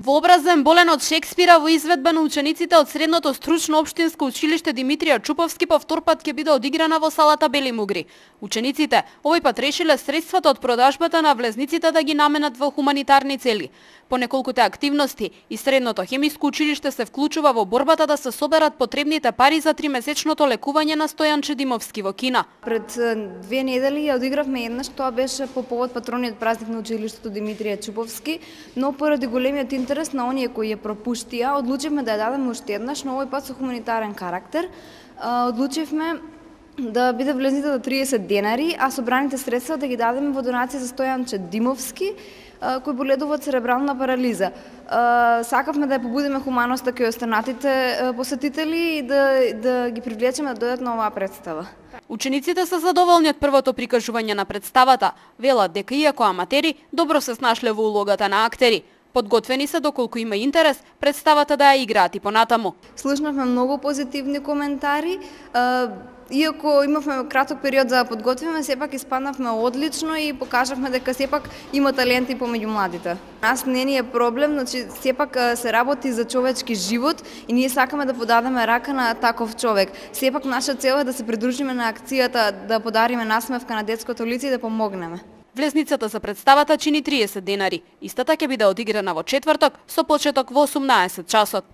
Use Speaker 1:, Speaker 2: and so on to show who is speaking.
Speaker 1: Вообразен болен од Шекспира во изведба на учениците од средното стручно општинско училиште Димитрија Чуповски по втор пат ќе биде одиграна во салата Бели Мугри. Учениците овој пат решиле средствата од продажбата на влезниците да ги наменат во хуманитарни цели. По неколкуте активности и средното хемиско училиште се вклучува во борбата да се соберат потребните пари за 3-месечното лекување на Стојан Димовски во Кина.
Speaker 2: Пред 2 недели ја одигравме еднаш, тоа беше по повод патрониот празник на училиштето Димитрија Чуповски, но поради големиот интерес на оние кои ја пропуштија, одлучивме да ја дадеме уште еднаш, но овој пат со хуманитарен карактер. Одлучивме да биде влезните до 30 денари, а собраните средства да ги дадеме во донација за Стојан Димовски, кој боледува од церебрална парализа. Сакавме да ја побудиме хуманоста кај останатите посетители и да ги привлечеме да дојдат на оваа представа.
Speaker 1: Учениците се задоволни од првото прикажување на представата. Велат дека иако аматери, добро се снашле во улогата на актери. Подготвени се доколку има интерес представата да ја играат и понатаму.
Speaker 2: Слушнавме многу позитивни коментари. Иако имавме краток период за да подготвиме, сепак испаднавме одлично и покажавме дека сепак има таленти помеѓу младите. Нас не ни е проблем, значи сепак се работи за човечки живот и ние сакаме да подадеме рака на таков човек. Сепак наша цел е да се придружиме на акцијата, да подариме насмевка на детското лице и да помогнеме.
Speaker 1: Влезницата за представата чини 30 денари. Истата ќе биде одиграна во четврток со почеток во 18 часот.